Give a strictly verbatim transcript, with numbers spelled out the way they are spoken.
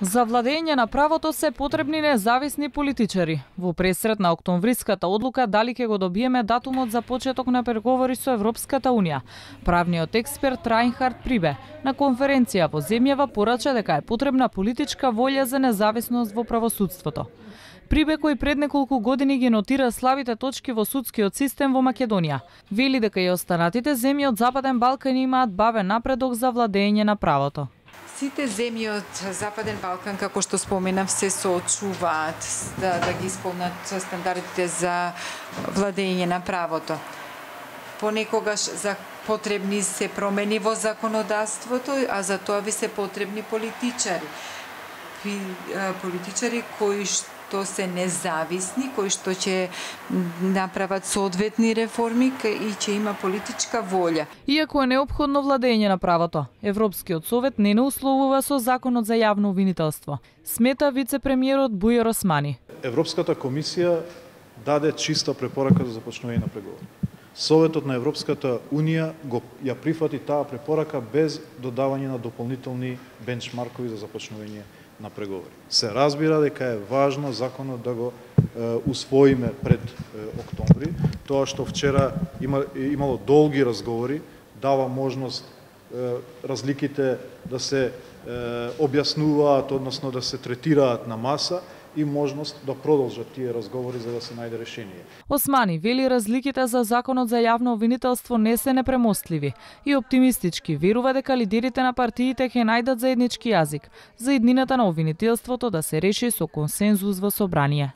За владење на правото се потребни независни политичари. Во пресрет на октомвриската одлука дали ќе го добиеме датумот за почеток на преговори со Европската унија, правниот експерт Рајнхард Прибе на конференција во земјава порача дека е потребна политичка волја за независност во правосудството. Прибе, кој пред неколку години ги нотира слабите точки во судскиот систем во Македонија, вели дека и останатите земји од Западен Балкан имаат бавен напредок за владење на правото. Сите земји од Западен Балкан, како што споменав, се соочуваат да, да ги исполнат стандардите за владење на правото. Понекогаш за потребни се промени во законодавството, а за тоа ви се потребни политичари. Политичари кои што се независни, кои што ќе направат соодветни реформи и ќе има политичка волја. Иако е неопходно владење на правото, Европскиот совет не не условува со законот за јавно обвинителство, смета вице-премиерот Бујар Османи. Европската комисија даде чиста препорака за започнување на преговори. Советот на Европската унија го ја прифати таа препорака без додавање на дополнителни бенчмаркови за започнување на преговори. Се разбира дека е важно законот да го е, усвоиме пред е, октомври. Тоа што вчера има, имало долги разговори, дава можност е, разликите да се е, објаснуваат, односно да се третираат на маса и можност да продолжат тие разговори за да се најде решение. Османи вели разликите за законот за јавно обвинителство не се непремостливи и оптимистички верува дека лидерите на партиите ќе најдат заеднички јазик за иднината на обвинителството да се реши со консензус во собрание.